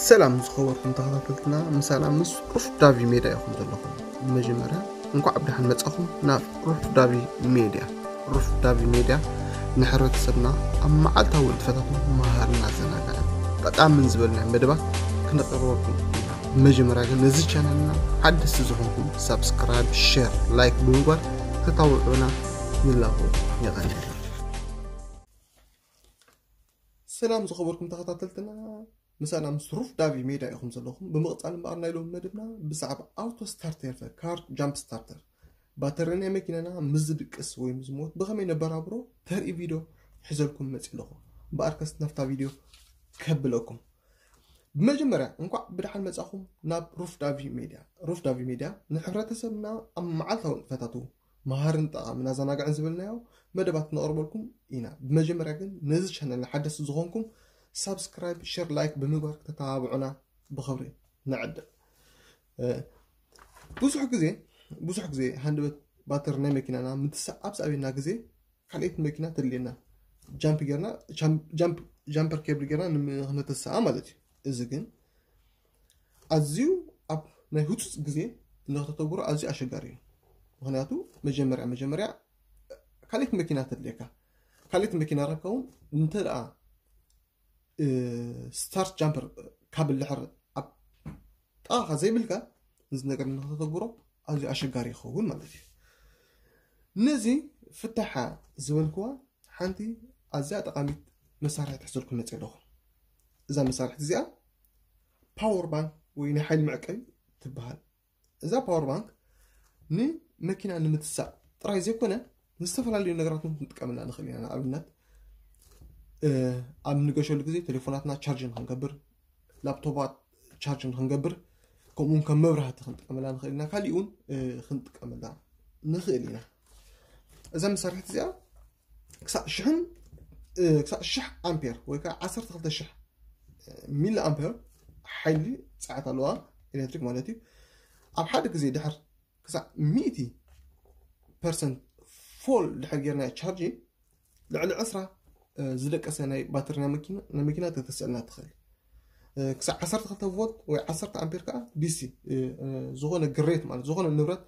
ሰላም ዝኸበርኩም ተኸታተልትና፣ ምሳና ምስ ሩፍ ዳቪ ሜድያ ኢኹም ዘለኹም። ብመጀመርያ እንኳዕ ብደሓን መጻኹም ናብ ሩፍ ዳቪ ሜድያ። ሩፍ ዳቪ ሜድያ ንሕብረተሰብና ኣብ መዓልታዊ ንጥፈታቱ መሃርን ኣዘናጋዕን ጠቃምን ዝበልናዮ መደባት ክነቅርበልኩም ኢና። ብመጀመርያ ግን ነዚ ቻነልና ሓደስቲ ዝኾንኩም ሳብስክራይብ፣ ሼር፣ ላይክ ብምግባር ክተባብዑና ንላቦ። የቐንየልና። ሰላም ዝኸበርኩም ተኸታተልትና፣ ምሳና ምስ ሩፍ ዳቪ ሜድያ ኢኹም ዘለኹም። ብምቕጻል እምበኣር ናይ ሎሚ መደብና ብዛዕባ ኣውቶ ስታርተር ካር ጃምፕ ስታርተር፣ ባተሪ ናይ መኪናና ምስ ዝድቅስ ወይ ምስ ዝሞት ብኸመይ ነበራብሮ ተርኢ ቪድዮ ሒዘልኩም መጺእ ኣለኹ። እምበኣርከስ ናብታ ቪድዮ ከብለኩም። ብመጀመርያ እንኳዕ ብደሓን መጻኹም ናብ ሩፍ ዳቪ ሜድያ። ሩፍ ዳቪ ሜድያ ንሕብረተሰብና ኣብ መዓልታዊ ንጥፈታቱ መሃርን ጠቓምን ኣዘናጋዕን ዝበልናዮ መደባት ነቕርበልኩም ኢና። ብመጀመርያ ግን ነዚ ቻነል ሓደስቲ ዝኾንኩም ሳብስክራይብ፣ ሸር፣ ላይክ ብምግባር ክተተባብዑና ብኽብሪ ንዕድም። እ፣ ብዙሕ ግዜ ብዙሕ ግዜ ሃንደበት ባተሪ ናይ መኪናና ምትሳእ ኣብ ዝኣበየና ግዜ ካልኣይቲ መኪና ተድልየና፣ ጃምፕ ጌርና ጃምፕ ጃምፕ ጃምፐር ኬብል ጌርና ንክነተስኣ ማለት እዩ። እዚ ግን ኣዝዩ ኣብ ናይ ህጹጽ ግዜ ንክተተግብሮ ኣዝዩ ኣሸጋሪ እዩ። ምኽንያቱ መጀመርያ መጀመርያ ካልኣይቲ መኪና ተድልየካ። ካልኣይቲ መኪና ረብካ እውን እንተ ደኣ እ፣ ስታርት ጃምፐር ካብ ልሕር ኣብ ጥቓኻ ዘይብልካ፣ እዚ ነገር ንክተተግብሮ ኣዝዩ ኣሸጋሪ ይኸውን ማለት እዩ። ነዚ ፍታሓ ዝበልክዋ ሓንቲ ኣዝያ ጠቓሚት መሳርሒ ትሕዘልኩም መፅእ ኣለኹ። እዛ መሳርሒ እዚኣ ፓወር ባንክ ወይ ናይ ሓይሊ መዕቀቢ ትበሃል። እዛ ፓወር ባንክ ንመኪና ንምትሳእ ጥራይ ዘይኮነ ንዝተፈላለዩ ነገራት እውን ክንጥቀመላ ንኽእል ኢና። ንኣብነት ኣብ ንገሸሉ ግዜ ቴሌፎናትና ቻርጅ ንክንገብር፣ ላፕቶፓት ቻርጅ ንክንገብር፣ ከምኡውን ከም መብራህቲ ክንጥቀመላ ንኽእል ኢና። ካሊእ እውን ክንጥቀመላ ንኽእል ኢና። እዛ መሳርሒት እዚኣ ክሳዕ ሽሕን ክሳዕ ሽሕ ኣምፔር ወይ ከዓ ዓሰርተ ክልተ ሽሕ ሚሊ ኣምፔር ሓይሊ ፀዓት ኣለዋ፣ ኤሌክትሪክ ማለት እዩ። ኣብ ሓደ ግዜ ድሕር ክሳዕ ሚእቲ ፐርሰንት ፎል ድሕር ጌርና ቻርጅ ልዕሊ ዕስራ ዝደቀሰ ናይ ባትሪ ናይ መኪና ናይ መኪና ተተስዕልና ትኽእል። ክሳዕ ዓሰርተ ክልተ ቮልት ወይ ዓሰርተ ኣምፔር ከዓ ዲሲ ዝኾነ ግሬት ማለት ዝኾነ ንብረት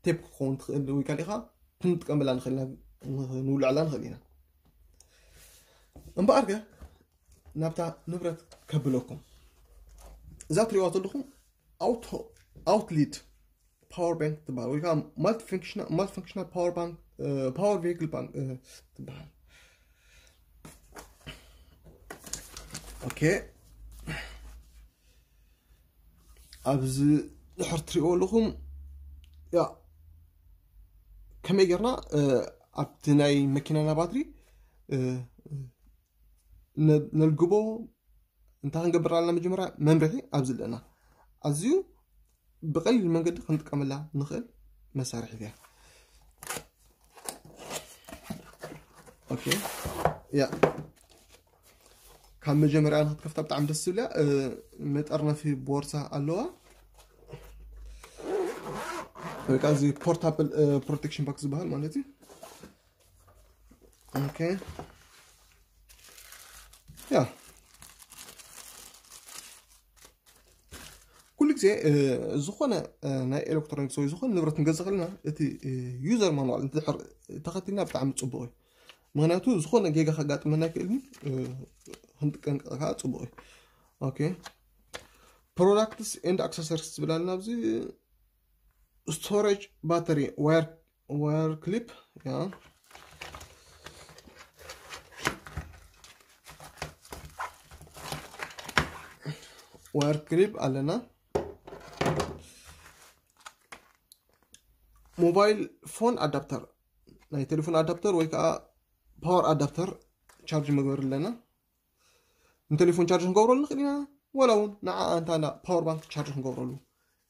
ቴፕ ክኸውን ትኽእል ወይ ካሊእ ከዓ ክንጥቀመላ ንኽእል ኢና፣ ንውልዐላ ንኽእል ኢና። እምበኣር ከ ናብታ ንብረት ከብለኩም። እዛ ትሪእዋ ዘለኹም ኣውቶ ኣውትሊድ ፓወር ባንክ ትበሃል ወይ ከዓ ማልቲፈንክሽናል ፓወር ባንክ ፓወር ቬሂክል ባንክ ትበሃል። ኦኬ፣ ኣብዚ ድሕር ትሪእዎ ኣለኹም። ያ ከመይ ጌርና ኣብቲ ናይ መኪናና ባትሪ ነልግቦ እንታይ ክንገብር ኣለና? መጀመርያ መምርሒ ኣብዚ ኣለና። ኣዝዩ ብቐሊል መንገዲ ክንጥቀመላ ንኽእል መሳርሒት እያ። ኦኬ፣ ያ ካብ መጀመርያ ንክትከፍታ ብጣዕሚ ደስ ዝብል እያ። መጠርነፊ ቦርሳ ኣለዋ ወይ ከዓ እዚ ፖርታብል ፕሮቴክሽን ባክ ዝበሃል ማለት እዩ። ኦኬ፣ ያ ኩሉ ግዜ ዝኾነ ናይ ኤሌክትሮኒክስ ወይ ዝኾነ ንብረት ክንገዝእ ከለና እቲ ዩዘር ማኑዋል እንድሕር ተኸቲልና ብጣዕሚ ፅቡቕ እዩ። ምክንያቱ ዝኾነ ጌጋ ከጋጥመና ይክእል፣ ክንጥቀንቀቕ ከዓ ፅቡቕ እዩ። ኦኬ፣ ፕሮዳክትስ ኤንድ ኣክሰሰሪስ ዝብል ኣለና ኣብዚ። ስቶሬጅ ባተሪ ዋየር ዋየር ክሊፕ፣ ያ ዋየር ክሊፕ ኣለና። ሞባይል ፎን ኣዳፕተር፣ ናይ ቴሌፎን ኣዳፕተር ወይ ከዓ ፓወር ኣዳፕተር ቻርጅ መግበሪ ኣለና። ንቴሌፎን ቻርጅ ክንገብረሉ ንኽእል ኢና፣ ወላ እውን ንዓ ኣንታ ና ፓወር ባንክ ቻርጅ ክንገብረሉ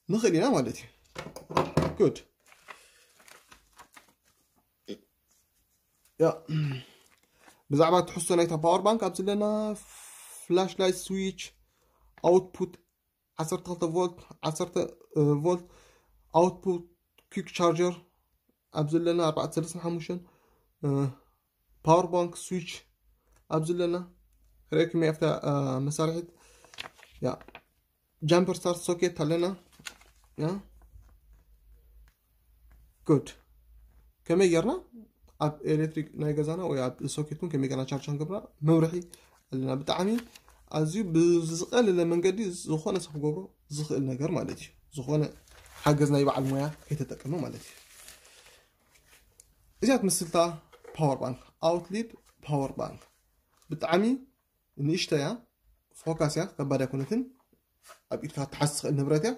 ንኽእል ኢና ማለት እዩ። ጉድ፣ ያ ብዛዕባ ትሕዝቶ ናይታ ፓወር ባንክ ኣብዚ ኣለና። ፍላሽ ላይት ስዊች፣ ኣውትፑት ዓሰርተ ክልተ ቮልት፣ ዓሰርተ ቮልት ኣውትፑት፣ ኩክ ቻርጀር ኣብዚ ኣለና ኣርባዕተ ሰለስተ ሓሙሽተ፣ ፓወር ባንክ ስዊች ኣብዚ ኣለና። ርኤኩም ኣብታ መሳርሒት ያ፣ ጃምፐር ስታርት ሶኬት ኣለና። ያ፣ ጉድ። ከመይ ጌርና ኣብ ኤሌክትሪክ ናይ ገዛና ወይ ኣብ ሶኬት እውን ከመይ ጌርና ቻርጅ ክንገብራ፣ መብርሒ ኣለና። ብጣዕሚ ኣዝዩ ብዝቐለለ መንገዲ ዝኾነ ሰብ ክገብሮ ዝኽእል ነገር ማለት እዩ። ዝኾነ ሓገዝ ናይ በዓል ሞያ ከይተጠቀመ ማለት እዩ። እዚኣ ትምስልታ ፓወር ባንክ፣ ኣውትሊድ ፓወር ባንክ፣ ብጣዕሚ ንእሽቶ እያ፣ ፎካስ እያ፣ ከባድ ኣይኮነትን። ኣብ ኢድካ ክትሓዝ ትኽእል ንብረት እያ።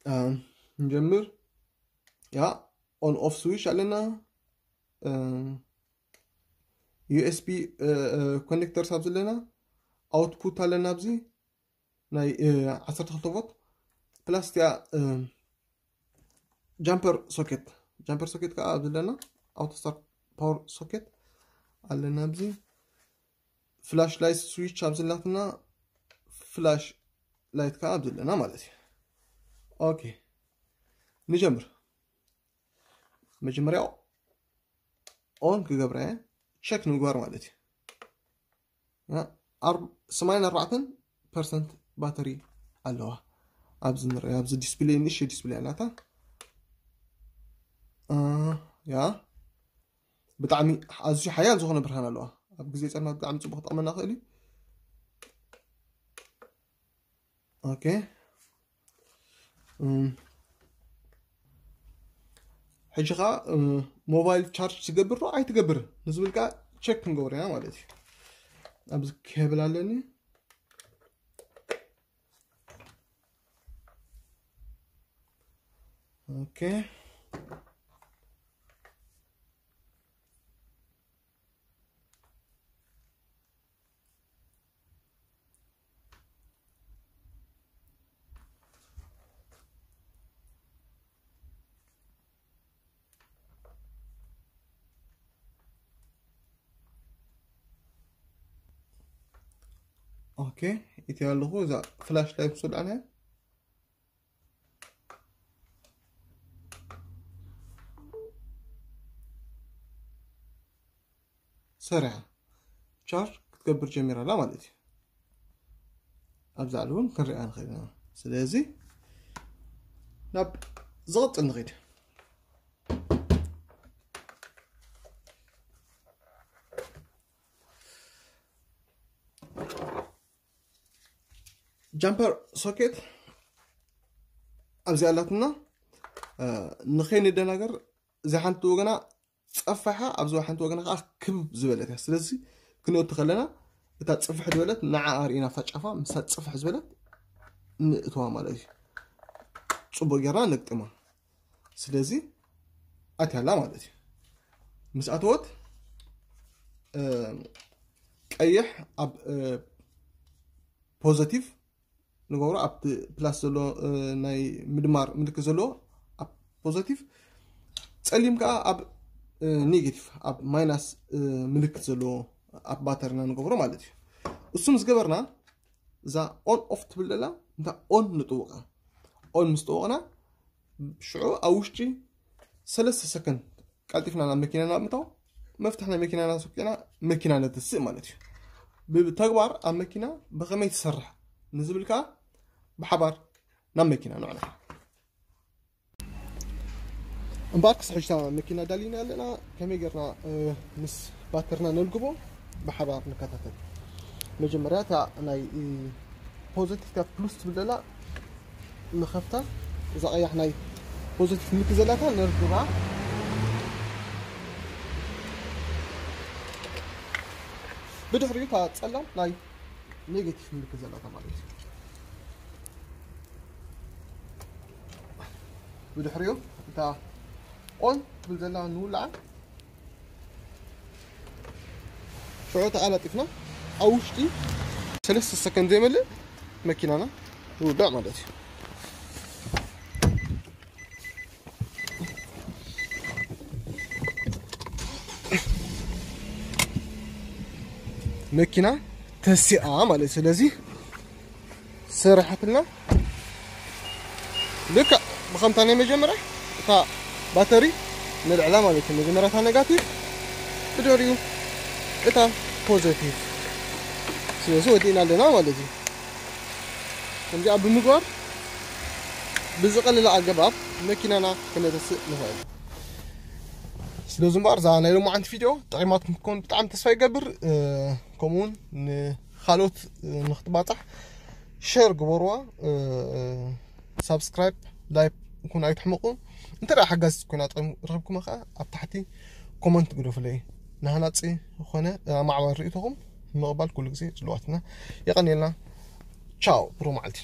ኣም፣ ንጀምር። ያ፣ ኦን ኦፍ ስዊች ኣለና። ዩ ኤስ ቢ ኮኔክተርስ ኣብዚ ኣለና። ኣውትፑት ኣለና ኣብዚ ናይ ዓሰርተ ክልተ ቮት ፕላስ እቲኣ ጃምፐር ሶኬት፣ ጃምፐር ሶኬት ከዓ ኣብዚ ኣለና። ኣውቶ ስታርት ፓወር ሶኬት ኣለና ኣብዚ። ፍላሽ ላይት ስዊች ኣብዚ ኣላትና፣ ፍላሽ ላይት ከዓ ኣብዚ ኣለና ማለት እዩ። ኦኬ፣ ንጀምር። መጀመርያ ኦን ክገብራ እየ፣ ቸክ ንምግባር ማለት እዩ። ያ፣ ኣር-፣ ሰማንያን ኣርባዕተን ፐርሰንት ባተሪ ኣለዋ። ኣብዚ ንሪኦ፣ ኣብዚ ዲስፕሌይ፣ ንእሽተይ ዲስፕሌይ ኣላታ። እ፣ ያ፣ ብጣዕሚ ኣዝዩ ሓያል ዝኾነ ብርሃን ኣለዋ። ኣብ ግዜ ጸልማት ብጣዕሚ ጽቡቕ ክጠቕመና ይኽእል እዩ። ኦኬ። እም፣ ሕጂ ኸዓ፣ እም፣ ሞባይል ቻርጅ ትገብር ዶ ኣይትገብርን ንዝብል ከኣ ቸክ ክንገብሮ ኢና ማለት እዩ። ኣብዚ ኬብል ኣለኒ። ኦኬ። ኦኬ፣ ኢትዮ ኣለኹ። እዛ ፍላሽ ላይት ምስ ወድኣና ሰሪሓ ቻርጅ ክትገብር ጀሚራ ኣላ ማለት እዩ። ኣብዚ ላዕሊ እውን ክንሪኣ ንኽእል ኢና። ስለዚ ናብ ዝቕጽል ንኸይድ። ጃምፐር ሶኬት ኣብዚ ኣላትና፣ እ፣ ንኸይንደናገር እዛ ሓንቲ ወገና ጸፋሓ፣ ኣብዚ ሓንቲ ወገና ከዓ ክብ ዝበለት እያ። ስለዚ ክንእቱ ከለና እታ ጽፍሕ ዝበለት ንዓ ኣርኢና ኣብታ ጫፋ፣ ምስታ ጽፍሕ ዝበለት ንእትዋ ማለት እዩ። ጽቡቕ ጌርና ንግጥማ። ስለዚ ኣትያላ ማለት እዩ። ምስ ኣተወት፣ እ፣ ቀይሕ ኣብ፣ እ፣ ፖዘቲቭ ንገብሮ፣ ኣብቲ ፕላስ ዘሎ፣ እ፣ ናይ ምድማር ምልክት ዘለዎ ኣብ ፖዘቲቭ፣ ጸሊም ከኣ ኣብ፣ እ፣ ኔጌቲቭ፣ ኣብ ማይናስ፣ እ፣ ምልክት ዘለዎ ኣብ ባተርና ንገብሮ ማለት እዩ። እሱ ምስ ገበርና፣ እዛ ኦን ኦፍ ትብል ዘላ፣ እንታ ኦን ንጥውቓ። ኦን ምስ ጠወቕና፣ ሽዑ ኣብ ውሽጢ ሰለስተ ሰከንድ ቀልጢፍና ናብ መኪናና ምእታው፣ መፍትሕ ናይ መኪናና ኣስወቂዕና መኪና ነተስእ ማለት እዩ። ብተግባር ኣብ መኪና ብኸመይ ትሰርሕ ንዝብል ከኣ ብሓባር ናብ መኪና ንዕለፍ። እምበኣር ክሳብ ሕጂ እታ መኪና ዳሊና ኣለና። ከመይ ጌርና፣ እ፣ ምስ ባተርና ነልግቦ ብሓባር ንከታተል። መጀመርያ እታ ናይ፣ እ፣ ፖዘቲቭ፣ እታ ፕሉስ ትብል ዘላ ንኸፍታ፣ እዛ ቀያሕ ናይ ፖዘቲቭ ምልክት ዘላታ ነርግባ። ብድሕሪኡ እታ ጸላም ናይ ኔጌቲቭ ምልክት ዘላታ ማለት እዩ። ብድሕሪኡ እታ ኦን ትብል ዘላ ንውልዓ። ሽዑ ተኣላጢፍና ኣብ ውሽጢ ሰለስተ ሰከንድ ዘይመልእ መኪናና ይውዳእ ማለት እዩ። መኪና ተሲኣ ማለት እዩ። ስለዚ ሰራሕትና ልክዕ ብኸምታ ናይ መጀመርያ እታ ባተሪ ነልዕላ ማለት እዩ። መጀመርያ እታ ኔጋቲቭ፣ ብድሕሪኡ እታ ፖዘቲቭ። ስለዚ ወዲእና ኣለና ማለት እዩ። እዚኣ ብምግባር ብዝቐለለ ኣገባብ መኪናና ክነተስእ ንኽእል። ስለዚ እምበኣር እዛ ናይ ሎማዓንቲ ቪድዮ ጥዒማትኩም ክትኮን ብጣዕሚ ተስፋ ይገብር። ከምኡውን ንካልኦት ንክትባፃሕ ሸር ግበርዋ። ሳብስክራይብ፣ ላይክ፣ ይኩን ኣይትሕመቁ። እንተ ሓጋዝ ኮይና ጥቕሚ ረኽብኩም ከኣ ኣብ ታሕቲ ኮመንት ግደፉለይ። ንሃናጺ ዝኾነ ኣማዕባል ርእይቶኹም ምቕባል ኩሉ ግዜ ጽልዋትና። የቐንየልና። ቻው፣ ብሩህ መዓልቲ።